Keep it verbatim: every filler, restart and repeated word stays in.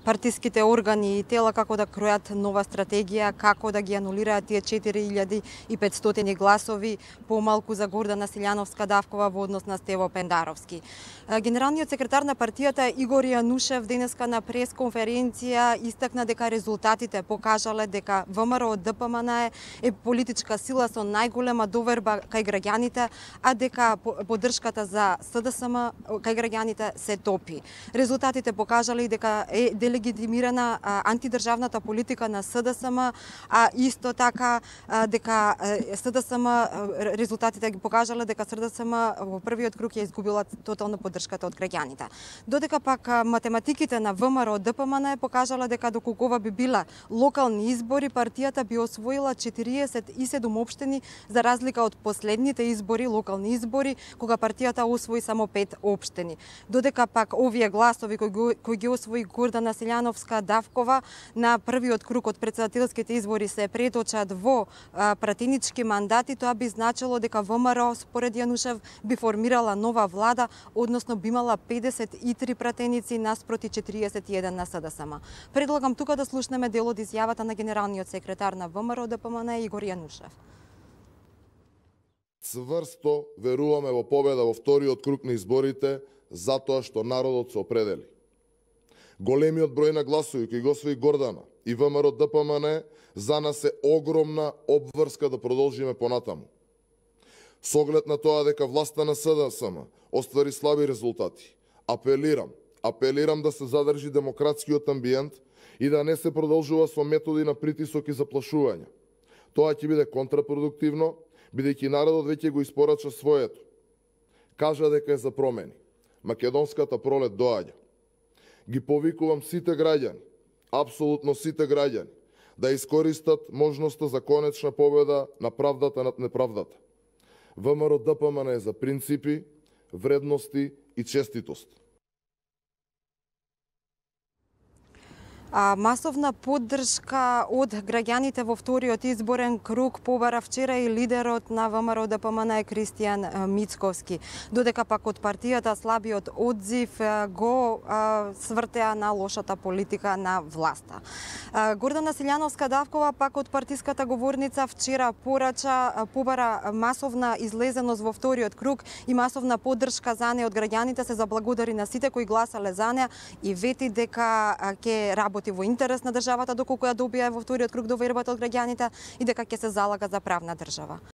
партиските органи и тела како да кројат нова стратегија, како да ги анулираат тие четири илјади и петстотини гласови помалку за Гордана Силјановска-Давкова во однос на Стево Пендаровски. Генералниот секретар на партијата Игор Јанушев денеска на пресконференција истакна дека резултатите покажале дека ВМРО ДПМН е политичка сила со најголема доверба кај граѓаните, а дека поддршката за СДСМ кај граѓаните се топи. Резултатите покажале и дека е делегитимирана антидржавната политика на СДСМ, а исто така дека СДСМ резултатите ги покажале дека СДСМ во првиот круг ја изгубила тотално поддршката од граѓаните. Додека пак математиките на ВМРО ДПМН покажале дека доколку ова би била локални избори, партијата би освоила четириесет и седум општини за разлика од последните избори, локални избори, кога партијата освои само пет општини. Додека пак овие гласови кои, кои ги освои Гордана Силјановска-Давкова на првиот круг од претседателските избори се преточат во а, пратенички мандати, тоа би значило дека ВМРО според Јанушев би формирала нова влада, односно би имала педесет и три пратеници наспроти четириесет и еден на СДСМ. Предлагам тука да слушнеме дел од изјавата на генералниот секретар на ВМРО ДПМН Игор Јанушев. Цврсто веруваме во победа во вториот круг на изборите, затоа што народот се определи. Големиот број на гласови кои го освои Гордана и ВМРО ДПМН за нас е огромна обврска да продолжиме понатаму. Со оглед на тоа дека власта на СДСМ оствари слаби резултати, апелирам, апелирам да се задржи демократскиот амбиент и да не се продолжува со методи на притисок и заплашување. Тоа ќе биде контрапродуктивно, бидејќи народот веќе го испорача своето. Кажа дека е за промени. Македонската пролет доаѓа. Ги повикувам сите граѓани, апсолутно сите граѓани, да искористат можноста за конечна победа на правдата над неправдата. ВМРО ДПМН е за принципи, вредности и честитост. А, масовна поддршка од граѓаните во вториот изборен круг побара вчера и лидерот на ВМРО ДПМН Кристијан Мицковски. Додека пак од партијата слабиот одзив го а, свртеа на лошата политика на власта. А, Гордана Силјановска-Давкова пак од партиската говорница вчера порача побара масовна излезеност во вториот круг и масовна поддршка за неа од граѓаните, се заблагодари на сите кои гласале за неа и вети дека ќе работи во интерес на државата доколку ја добија во вториот круг довербата од граѓаните и дека ќе се залага за правна држава.